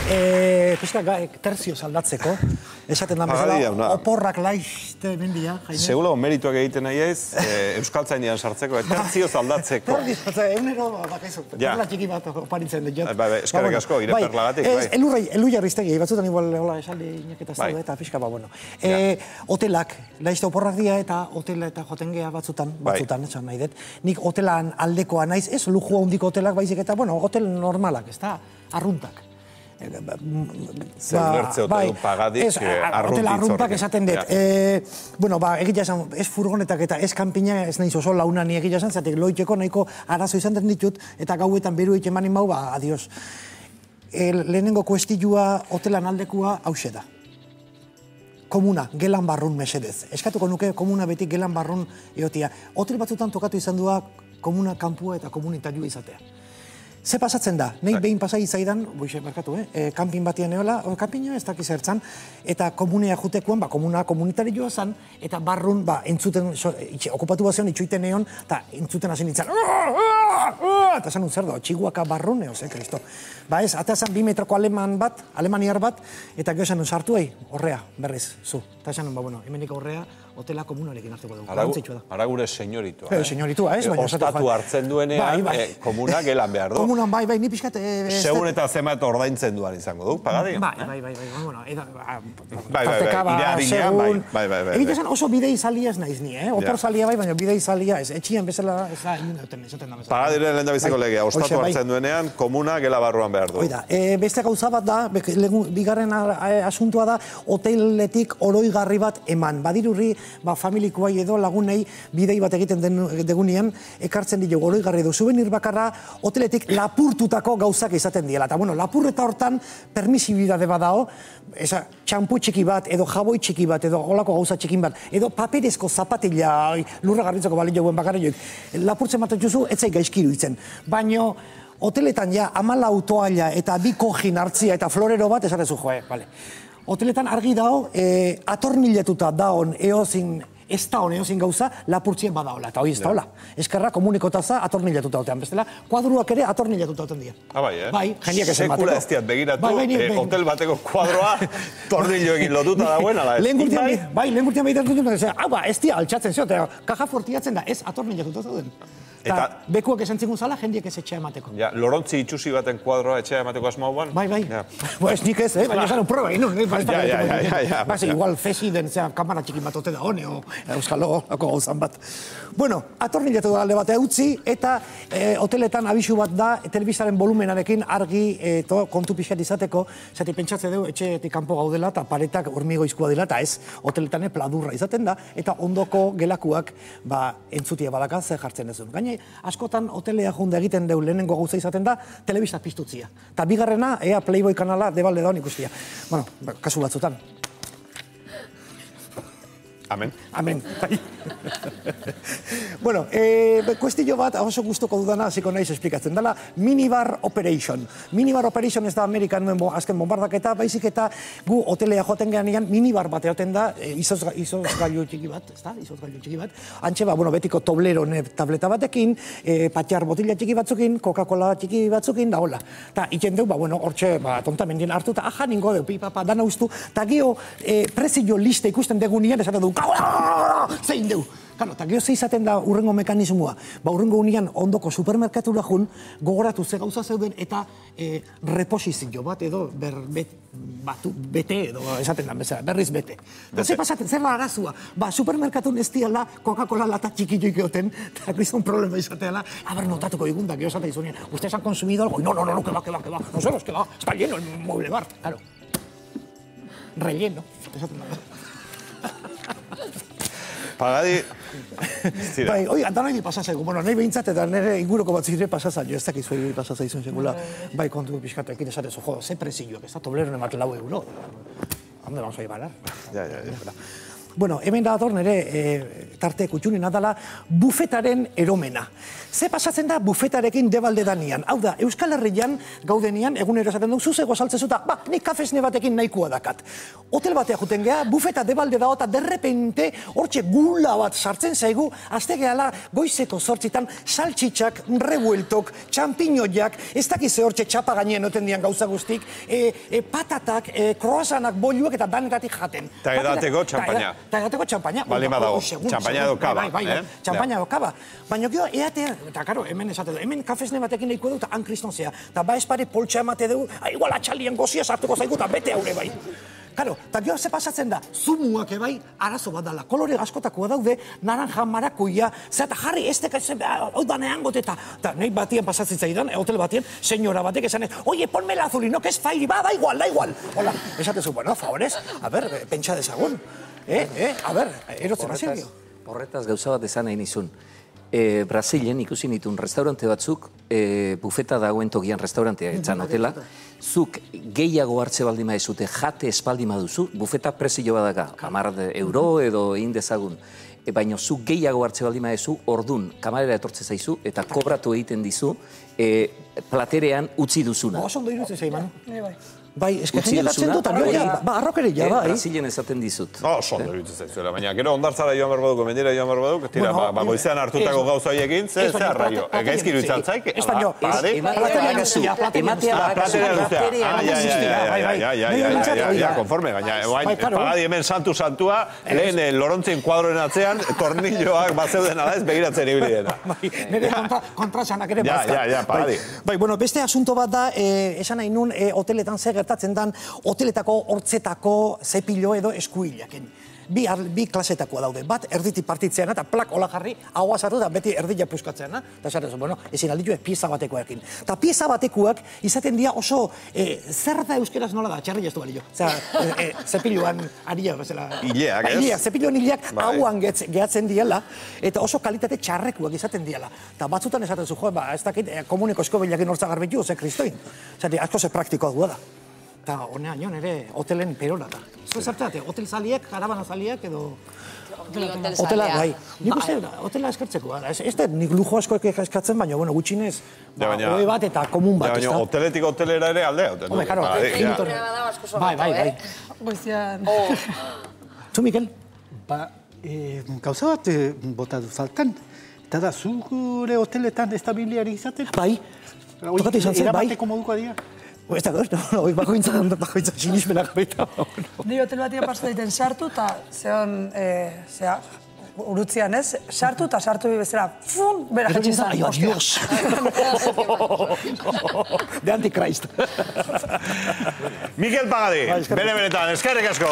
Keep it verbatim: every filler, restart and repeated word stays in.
Pizka, terzioz aldatzeko, esaten da bezala, oporrak laizte mendia, Jaime. Seguro, merituak egiten nahi ez, euskaltzainean sartzeko, terzioz aldatzeko. Egunero, bakaizu, perla txiki bat oparitzen dut. Eskerrik asko, ire perlagatik, bai. Elu jarriztegi, batzutan igual, hola, esaldi inaketa zaude, eta pixka, ba, bueno. Hotelak, laizte oporrak dira, eta hotela eta joten geha batzutan, batzutan, esan nahi dut. Nik hotelan aldekoa naiz, ez lujo handiko hotelak baizik, eta, bueno, hotel normalak, ez da, arruntak. Zer bertze hotel pagadik hotel arruntak esaten dut. Bueno, ba, egia esan, ez furgonetak eta ez kanpina ez nahiz oso launa ni egia esan, zatek loiteko nahiko arazo izan den ditut, eta gauetan beru egiten manin mau, ba, adios. Lehenengo kuestilua hotelan aldekua hause da. Komuna, gelan barrun mesedez. Eskatuko nuke komuna betik gelan barrun egotia. Hotel batzutan tokatu izan dua komuna kanpua eta komunitarioa izatea. Ze pasatzen da? Nei behin pasai zaidan, boixe, barkatu, eh? Kampin batian eola, kampina ez dakiz ertzan, eta komunea jutekuan, ba, komuna komunitarioa zan, eta barrun, ba, entzuten, okupatu bazion, itxuiten egon, eta entzuten hasi nintzen, eta zan un zer da, txiguaka barrun, eoz, eh, kristo. Ba ez, eta zan bi metroko aleman bat, alemaniar bat, eta gero zan un sartu, ei, horrea, berriz, zu. Eta zan un, ba, bueno, hemenik horrea, hotela komunarekin hartuko dugu. Ara gure senyoritua. Senyoritua, ez? Ostatu hartzen duenean, komuna gelan behar du. Komunan, bai, bai, ni pixkat... Segun eta zemat ordaintzen duan izango du, pagadi? Bai, bai, bai, bueno, bai, bai, iraadinean, bai, bai, bai. Egite zen oso bidei zalia ez naiz ni, eh? Opor zalia bai, baina bidei zalia ez. Etxian bezala, ez da, esaten da bezala. Pagadiren lehen da biziko legea, ostatu hartzen duenean, komuna gela barruan behar du. Oida, beste gauza bat da, bigarren asuntua da, hoteletik oroigarri bat eman. Badirurri, ba, familikoa edo lagunei bidei bat egiten degunean, ekartzen dira oroigarri edo souvenir bakarra hoteletik lapurtutako gauzak izaten diela. Eta, bueno, lapurreta hortan permisibidade badao, eza, txampu txiki bat, edo jaboi txiki bat, edo holako gauza txikin bat, edo paperezko zapatila, lurra garritzeko balio guen bakarra joik, lapurtzen bat juzu, etzai gaizkiru itzen. Baina, hoteletan ja, amala autoaila eta bi kojin hartzia eta florero bat, esatezu joe, bale. Hoteletan argi dao, atorniletuta daon eozin, ez da hon eozin gauza, lapurtzien badaola, eta hoi ez da hola. Eskerra komunikotaza atorniletuta hotean, bestela, kuadruak ere atorniletuta hoten dira. Ah, bai, eh? Bai, jendiak esan bateko. Sekula ez diat begiratu, hotel bateko kuadroa tornilloekin lotuta dagoen, ala ez? Bai, lehen gurtian behitatu dut, hau ba, ez dia altxatzen zio, eta kaja fortiatzen da, ez atorniletuta zauden. Eta bekuak esan zingun zala, jendiek ez etxea emateko. Ja, lorontzi itxusi baten kuadroa etxea emateko asmau ban? Bai, bai. Ez nik ez, baina esan un proba, ino. Ja, ja, ja, ja. Base, igual fesi den, zera, kamara txikin bat ote da hone, o euskalo, lako gauzan bat. Bueno, atorniletu da alde batea utzi, eta hoteletan abisu bat da, telebistaren volumenarekin argi kontu pixat izateko, zati pentsatze deu, etxeetik kanpo gaudela, eta paretak hormigoizkoa dela, eta ez, hoteletan pladurra izaten da, eta ondoko gelakuak, ba, entzutia badaka, zer jartzen ez duen. Askotan hotelea jonde egiten deu lehenengo gauza izaten da, telebista piztutzia. Eta bigarrena, ea Playboy kanala debalde daun ikustia. Bueno, kasu batzutan. Amen. Amen. Bueno, kuestillo bat, oso guztoko dudana, hasiko naiz esplikatzen dela, Minibar Operation. Minibar Operation ez da Amerikan nuen azken bombardaketa, baizik eta gu hotelea joaten gehan minibar bat egoten da, izozgailu txiki bat, ez da, izozgailu txiki bat. Antxe, ba, bueno, betiko toblero tableta batekin, patxar botila txiki batzukin, Coca-Cola txiki batzukin, da hola. Ta, iken deu, ba, bueno, hortxe, ba, tontamendian hartu, eta aja ningo deu, pipapa, dana ustu, eta gio, prezio liste ikusten degunean, esaten du, zein deu. Kano, eta geho zeizaten da urrengo mekanismoa. Ba, urrengo unian ondoko supermerkatura jun, gogoratu ze gauza zeuden eta reposizio bat edo bete edo esaten da, berriz bete. Ze pasaten, zer da arazua? Ba, supermerkatun ez diala Coca-Cola lata txikituik egoten, eta gizon problema izateala, haber notatuko digunda, geho esate izunean, ¿ustedes han consumido algo? No, no, no, que va, que va, que va. Nosotros, que va, está lleno el mueble bar, claro. Relleno, esaten da. Pagadi... Bai, oi, antan nahi pasazaigu. Bueno, nahi behintzat eta nire inguruko bat zire pasazaio. Ez dakizu egin pasazaizun segula. Bai, kontu pixkatekin esatezu. Jo, ze prezioak, ez da tobleron emat lau euro. Hamde vamos a ibarar. Ja, ja, ja. Bueno, hemen dator nire tarte kutxunina dela bufetaren eromena. Ze pasatzen da bufetarekin debalde danian? Hau da, Euskal Herrian gaudenian, egunero esaten duk, zuzego saltzezuta, ba, nik kafesne batekin nahikoa dakat. Hotel batea juten geha, bufeta debalde dago eta derrepente hortxe gula bat sartzen zaigu, azte gehala goizeko zortzitan saltxitxak, revueltok, txampiñoiak, ez dakize hortxe txapa gainien oten dian gauza guztik, patatak, kroasanak, boluak eta danetatik jaten. Ta edateko txampaina. Ta edateko txampaina. Balima dago, txampaina edo kaba. Txampaina edo kaba. Baina gero, eatea, eta karo, hemen esate du, hemen kafesne batekin nahiko du eta han kristonzea. Eta ba espare poltsa emate dugu, igual atxalien gozia sartuko zaigu eta bete haure bai. Karo, eta gero ze pasatzen da, zumuak ebai arazo bat dala. Kolore askotakoa daude, naranja marakuia, zeta jarri, ez teka, hau da neangot eta, eta nahi batien pasatzen zaidan, hotel batien, senyora batek esan ez, oie, ponme la azulino, que es fairi, ba, da igual, da igual. Hola, esatezu, bueno, favorez, a ver, pentsa dezagun. Eh, eh, a ver, erotzen azilio. Horretaz gauza bat esan nahi nizun. Brasilen ikusi nituen restaurante batzuk, bufeta dagoen tokian restaurantea, etzan hotela, zuk gehiago hartze baldima ezute, jate espaldima duzu, bufeta prezio badaka, hamar euro edo egin dezagun, baina zuk gehiago hartze baldima ezu, ordun, kamarera etortze zaizu, eta kobratu egiten dizu, platerean utzi duzuna. Oso ondo irutzen zaiman. Bai, eskatzen jatzen dut, ba, arrokeria, bai. Brasilen esaten dizut. Oso ondo irutzen zaizuela, baina gero ondartzara joan berbaduko, mendira joan berbaduk, tira, ba, goizean hartutako gauza horiekin, ze arraio. Gaizki irutzen zaik? Español. Platerea luzea. Platerea luzea. Ja, konforme, gaina. Pagadi hemen santu-santua, lehen lorontzien kuadroen atzean, tornilloak bazeuden ala ez begiratzen ibilidena. Nire kontrasanak ere bazka. Ja, ja, pagadi. Bai, bueno, beste asunto bat da, esan nahi nun, hoteletan zer gertatzen dan, hoteletako hortzetako zepilo edo eskuilaken. Bi, bi klasetakoa daude. Bat, erditi partitzeana, eta plak hola jarri, haua sartu da beti erdila puskatzeana. Eta esaten zu, bueno, ezin alditu ez pieza batekoekin. Eta pieza batekoak izaten dira oso, zer da euskeraz nola da, txarri jaztu balio. Osea, zepiloan aria, bezala. Ileak, ez? Ileak, zepiloan ileak hauan gehatzen diela, eta oso kalitate txarrekuak izaten diela. Eta batzutan esaten zu, jo, ba, ez dakit, komuneko eskobilakin hortza garbitu, ze kristoin. Osea, asko ze praktikoa du da. Eta honean nion ere hotelen perona da. Zue zartate, hotel zaliak, karabana zaliak edo... Hotela, bai. Nik uste, hotela eskertzeko. Ez da nik lujo asko eskatzen, baina, bueno, gutxinez, hoi bat eta komun bat. Baina hoteletik hotelera ere aldea. Home, karo, bai, bai, bai. Goizian. Zu, Mikel? Ba, gauza bat bota du faltan. Eta da, zure hoteletan estabiliari izaten? Bai. Tokatu izan zen, bai. Erabateko moduko dira? Ez da, hori bakointzan, bakointzan sinismenak baita. Ni hotel batia pastu daiten sartu, eta zehon, zea, urutzian ez, sartu eta sartu bezala, fun, bera jatzen zan. Ai, adios! De Antichrist. Mikel Pagadi, bere benetan, eskerrik asko!